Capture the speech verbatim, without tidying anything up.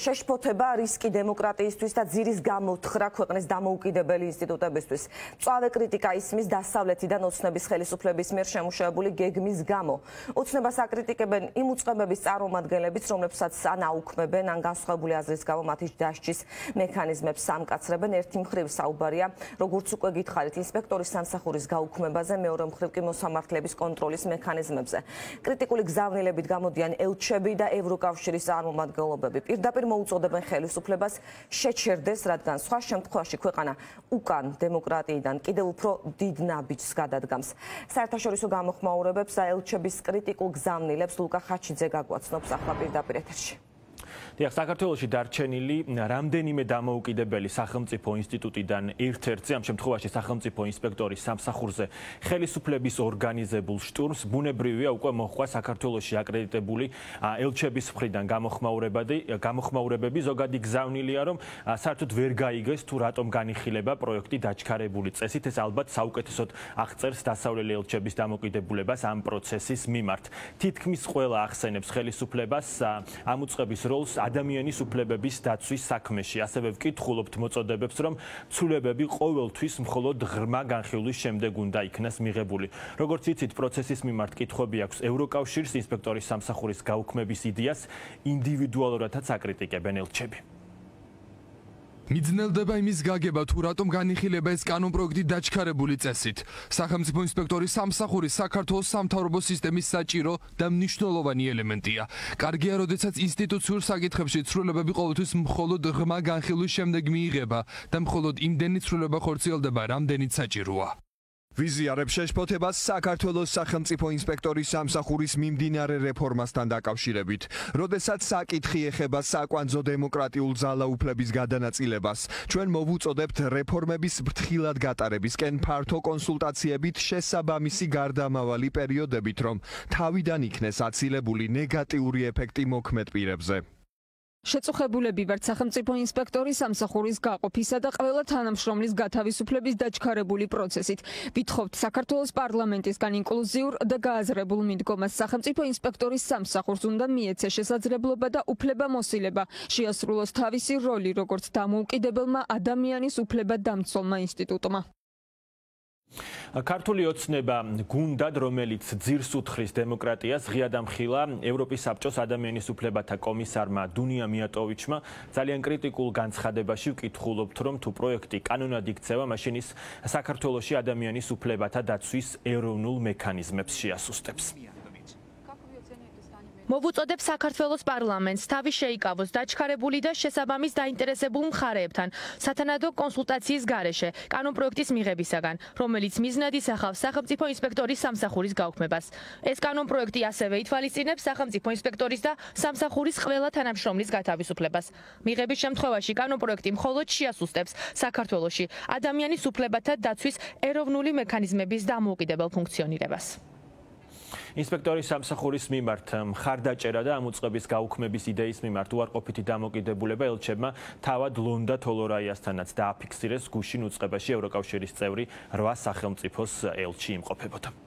შეშფოთება რისკი დემოკრატიისთვის და ძირის გამოთხრა ქვეყნის დამოუკიდებელი ინსტიტუტებისთვის. მწვავე კრიტიკა ისმის დასავლეთიდან ოცნების ხელისუფლების მიერ შემუშავებული გეგმის გამო. ოცნებას აკრიტიკებენ იმ უწყებების წარმომადგენლებიც, რომლებსაც ან აუქმებენ, ან განსხვავებული აზრის გამო მათი დასჯის მექანიზმებს სამკაცრებენ. ერთი მხრივ საუბარია, როგორც უკვე გითხარით, ინსპექტორის სამსახურის გაუქმებაზე, მეორე მხრივ კი მოსამართლეების კონტროლის მექანიზმებზე. კრიტიკული გზავნილებით გამოდიან ელჩები და ევროკავშირის წარმომადგენლობები. პირდაპირ მოუწოდებენ ხელისუფლებას შეჩერდეს, რადგან სხვა შემთხვევაში ქვეყანა უკან დემოკრატიიდან კიდევ უფრო დიდ ნაბიჯს გადადგამს. საერთაშორისო გამოხმაურებებს და ელჩების კრიტიკულ გზავნილებს ლუკა ხაჩიძე გაგვაცნობს ახლა პირდაპირ ეთერში. დიახ, საქართველოში დარჩენილი რამდენიმე დამოუკიდებელი სახელმწიფო ინსტიტუტიდან ერთ-ერთზე, ამ შემთხვევაში სახელმწიფო ინსპექტორის სამსახურზე ხელისუფლების ორგანიზებულ შტურმს ბუნებრივია უკვე მოჰყვა საქართველოში აკრედიტებული ელჩების მხრიდან გამოხმაურებები. ზოგადი გზავნილია, რომ საერთოდ ვერ გაიგეს თუ რატომ განიხილება პროექტი დაჩქარებული წესით. ეს ალბათ საუკეთესოდ აღწერს დასავლელი ელჩების დამოკიდებულებას ამ პროცესის მიმართ. თითქმის ყველა ახსენებს ხელისუფლებას ამ უწყების როლს ადამიანის უფლებების დაცვის საქმეში. ასევე ვკითხულობთ მოწოდებებს, რომ ცვლილებები ყოველთვის მხოლოდ ღრმა განხილვის შემდეგ უნდა იქნას მიღებული. როგორც იცით, პროცესის მიმართ კითხვები აქვს ევროკავშირს, ინსპექტორის სამსახურის გაუქმების იდეას ინდივიდუალურადაც აკრიტიკებენ ელჩები. მიძნელდება იმის გაგება, თუ რატომ განიხილება ეს კანონპროექტი დაჩქარებული წესით. სახელმწიფო ინსპექტორის სამსახური საქართველოს სამთავრობო სისტემის საჭირო და მნიშვნელოვანი ელემენტია. კარგია, როდესაც ინსტიტუციურ საკითხებში ცვლილებები ყოველთვის მხოლოდ ღრმა განხილვის შემდეგ მიიღება და მხოლოდ იმდენი ცვლილება ხორციელდება, რამდენიც საჭიროა. ვიზიარებს შეშფოთებას საქართველოს სახელმწიფო ინსპექტორის სამსახურის მიმდინარე რეფორმასთან დაკავშირებით. როდესაც საკითხი ეხება საკვანძო დემოკრატიულ ძალაუფლების გადანაწილებას, ჩვენ მოვუწოდებთ რეფორმების ფრთხილად გატარებისკენ ფართო კონსულტაციებით შესაბამისი გარდამავალი პერიოდებით, რომ თავიდან იქნეს აცილებული ნეგატიური ეფექტი მოქმედ პირებზე. შეწუხებულები ვართ სახელმწიფო ინსპექტორის სამსახურის გაყოფისა და ყველა თანამშრომლის გათავისუფლების დაჩქარებული პროცესით. ვითხოვთ საქართველოს პარლამენტისგან ინკლუზიურ და გააზრებულ მიდგომას. სახელმწიფო ინსპექტორის სამსახურს უნდა მიეცეს შესაძლებლობა და უფლებამოსილება შეასრულოს თავისი როლი როგორც დამოუკიდებელმა ადამიანის უფლებადამცველმა ინსტიტუტმა. ქართული ოცნება გუნდად, რომელიც ძირს უთხრის დემოკრატიას, ღია დამხილა ევროპის საბჭოს ადამიანის უფლებათა კომისარმა დუნია მიატოვიჩმა. ძალიან კრიტიკულ განცხადებაში ვკითხულობთ, რომ თუ პროექტი კანონად იქცევა, მაშინ ის საქართველოში ადამიანის უფლებათა დაცვის ეროვნულ მექანიზმებს შეასუსტებს. მოვუწოდებს საქართველოს პარლამენტს თავი შეიკავოს დაჩქარებული და შესაბამის დაინტერესებულ მხარეებთან სათანადო კონსულტაციის გარეშე კანონპროექტის მიღებისაგან, რომელიც მიზნად ისახავს სახელმწიფო ინსპექტორის სამსახურის გაუქმებას. ეს კანონპროექტი ასევე ითვალისწინებს სახელმწიფო ინსპექტორის და სამსახურის ყველა თანამშრომლის გათავისუფლებას. მიღების შემთხვევაში კანონპროექტი მხოლოდ შეასუსტებს საქართველოში ადამიანის უფლებათა დაცვის ეროვნული მექანიზმების დამოუკიდებელ ფუნქციონირებას. ინსპექტორის სამსახურის მიმართ მხარდაჭერა და ამ უწყების გაუქმების იდეის მიმართ უარყოფითი დამოკიდებულება ელჩებმა თავად ლონდა თოლორაიასთანაც დააფიქსირეს გუშინ უწყებაში ევროკავშირის წევრი რვა სახელმწიფოს ელჩი იმყოფებოდა.